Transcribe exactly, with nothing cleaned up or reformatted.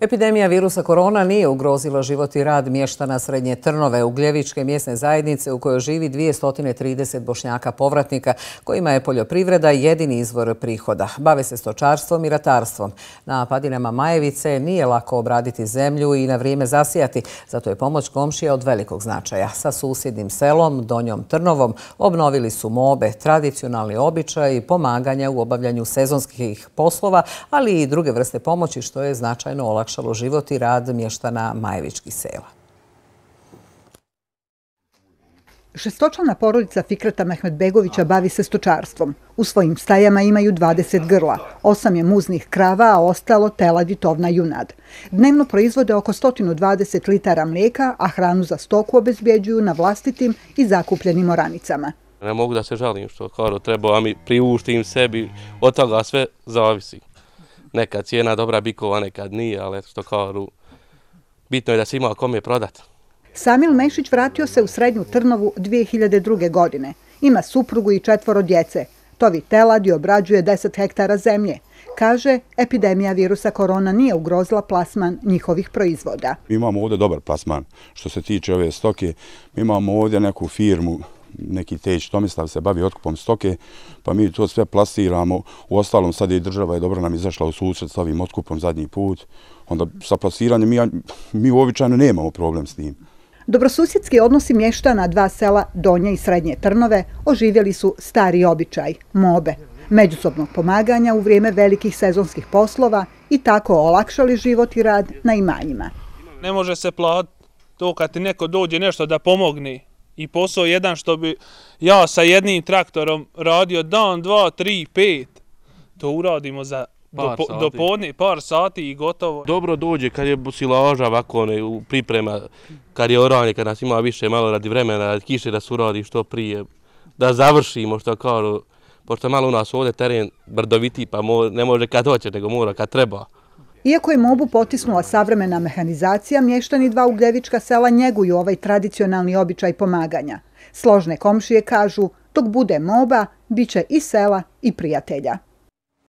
Epidemija virusa korona nije ugrozila život i rad mještana Srednje Trnove, Ugljevičke mjesne zajednice u kojoj živi dvjesto trideset Bošnjaka povratnika, kojima je poljoprivreda jedini izvor prihoda. Bave se stočarstvom i ratarstvom. Na padinama Majevice nije lako obraditi zemlju i na vrijeme zasijati, zato je pomoć komšija od velikog značaja. Sa susjednim selom, Donjom Trnovom, obnovili su mobe, tradicionalni običaj i pomaganja u obavljanju sezonskih poslova, ali i druge vrste pomoći, što je značajno olakšalo život i rad mještana Majevičkih sela. Šestočlana porodica Fikreta Mehmedbegovića bavi se stočarstvom. U svojim stajama imaju dvadeset grla, osam je muznih krava, a ostalo telad i tovna junad. Dnevno proizvode oko sto dvadeset litara mlijeka, a hranu za stoku obezbjeđuju na vlastitim i zakupljenim oranicama. Ne mogu da se žalim što kao treba, a mi priuštim sebi, od toga sve zavisi. Nekad cijena dobra bikova, nekad nije, ali što kao bitno je da se ima kome prodati. Samil Mešić vratio se u Srednju Trnovu dvije hiljade druge. godine. Ima suprugu i četvoro djece. Tovi telad i obrađuje deset hektara zemlje. Kaže, epidemija virusa korona nije ugrozila plasman njihovih proizvoda. Mi imamo ovdje dobar plasman. Što se tiče ove stoke, mi imamo ovdje neku firmu, neki Teć Tomislav se bavi otkupom stoke, pa mi to sve plasiramo. U ostalom sad i država je dobro nam izašla u susret s ovim otkupom zadnji put. Onda sa plasiranjem mi, mi uobičajeno nemamo problem s tim. Dobrosusjedski odnosi mještana dva sela Donje i Srednje Trnove oživjeli su stari običaj, mobe, međusobnog pomaganja u vrijeme velikih sezonskih poslova i tako olakšali život i rad na imanjima. Ne može se platiti to kad ti neko dođe nešto da pomogne. I posao jedan što bi ja sa jednim traktorom radio dan, dva, tri, pet. To uradimo za do, do podne, par sati i gotovo. Dobro dođe kad je silaža ovako ne, u priprema, kad je oranje, kad nas ima više malo radi vremena, radi kiše da se uradi što prije, da završimo što kao, pošto malo u nas ovdje teren brdoviti pa mo, ne može kad hoće, nego mora kad treba. Iako je mobu potisnula savremena mehanizacija, mještani dva ugljevička sela njeguju ovaj tradicionalni običaj pomaganja. Složne komšije kažu, dok bude moba, bit će i sela i prijatelja.